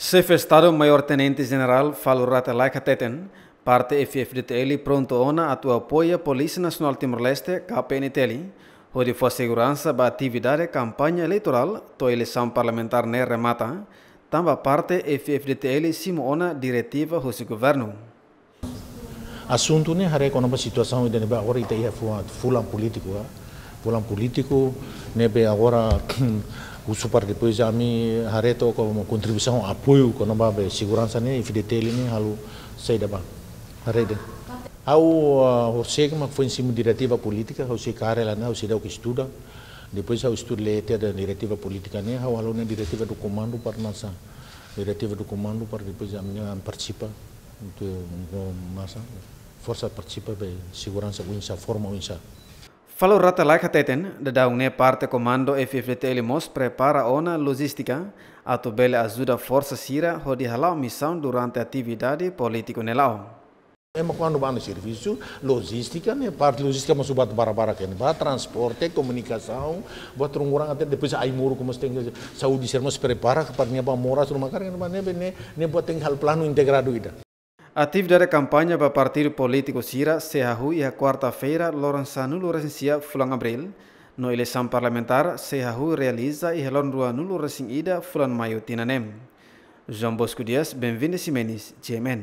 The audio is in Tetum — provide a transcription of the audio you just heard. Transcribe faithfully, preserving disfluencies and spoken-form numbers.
Xefe Estadu Maiór Tenente Jenerál Falur Rate Laek hateten, parte F-FDTL prontu ona atu apoia Polísia Nasionál Timor-Leste, K P N T L, hodi fó seguransa ba atividade kampaña eleitorál to'o eleisaun parlamentár ne'e remata, tanba parte F-FDTL simu ona diretiva husi governu. Asuntu ne'e haree kona-ba situasaun ida-ne'ebé agora ita iha fulan, fulan polítiku, ah. Fulan polítiku ne'ebé agora husu para depois ami haree to'o kona-ba kontribuisaun apoiu kona-ba be seguransa ne'e, F-FDTL ne'e halo saida ba. Haree de'it. Ha'u, ah, horiseik mak foin simu diretiva polítika, ha'u sei kaer lai ona, ha'u sei daudauk estuda. Depois ha'u estuda lee tiha diretiva polítika ne'e, ha'u halo ona diretiva do komandu para nasa. Diretiva do komandu para depois ami partisipa. Entaun, entaun, masa, forsa partisipa be seguransa oinsá, forma oinsá. Falur Rate Laek hateten, daudaun ne'e parte komandu F-FDTL mós prepara ona lojístika atu bele ajuda forsa sira hodi hala'o misaun durante atividade polítiku ne'e la'o. Ema kuandu bá ona servisu, lojístika ne'e, parte lojístika mós buat barak-barak ne'ebá, transporte, komunikasaun, buat ruma-ruma até depois ai-moruk mós tenke, saúde sira mós prepara para nia bá moras, ruma karik ne'ebá, ne'ebé ne'e, ne'e buat tenke halo planu integradu ida. Atividade kampaña ba partidu polítiku sira sei hahú iha kuarta-feira, loron sanulu-resin-sia fulan Abríl, no eleisaun parlamentár sei hahú realiza iha loron ruanulu-resin-ida fulan Maiu tinan ne'e. João Bosco Dias, Benvinda Ximenes, G M N.